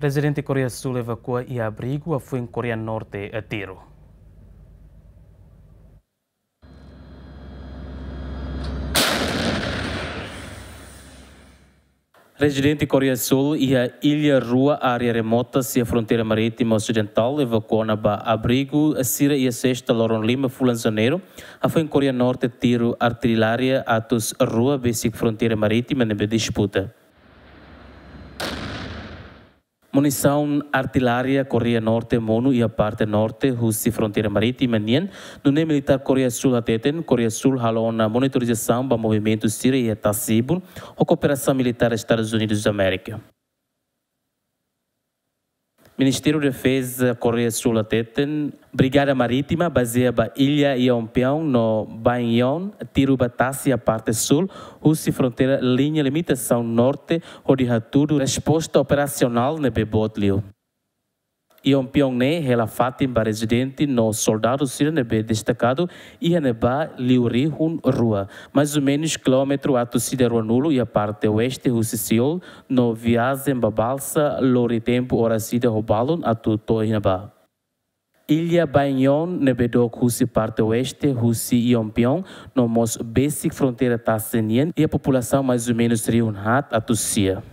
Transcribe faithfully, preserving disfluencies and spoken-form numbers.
Rezidente Koreia Súl evakua iha abrigu hafoin Koreia Norte tiru. Rezidente Koreia Súl iha illa rua área remota sira fronteira marítima osidentál evakua ona ba abrigu sira iha sesta loron lima fulan Janeiru, hafoin Koreia Norte tiru artilária atus rua besik fronteira marítima ne'ebé disputa. Munisaun artilária Koreia Norte monu iha parte norte husi fronteira marítima nian, nune'e militár Koreia Súl hateten, Koreia Súl halo ona monitorizasaun ba movimentu sira iha tasi-ibun, ho kooperasaun militár Estadus Unidus Amérika. Ministériu Defeza Koreia Súl hateten, Brigada Marítima bazeia ba illa Yeonpyeong no Baekneon tiru ba tasi iha parte súl husi fronteira liña limitasaun norte, hodi hatudu resposta operasionál ne'ebé boot liu. Yeonpyeong ne'e hela fatin ba rezidente no soldadu sira ne'ebé destakadu iha ne'ebá liu rihun rua, mais ou menus kilómetru atus ida ruanulu iha parte oeste husi Seul, no viajen ba balsa lori tempu oras ida ho balun atu to'o iha ne'ebá. Illa Baekneon ne'ebé dook husi parte oeste husi Yeonpyeong, no mós besik fronteira tasi nian, iha populasaun mais ou menus rihun haat atus sia.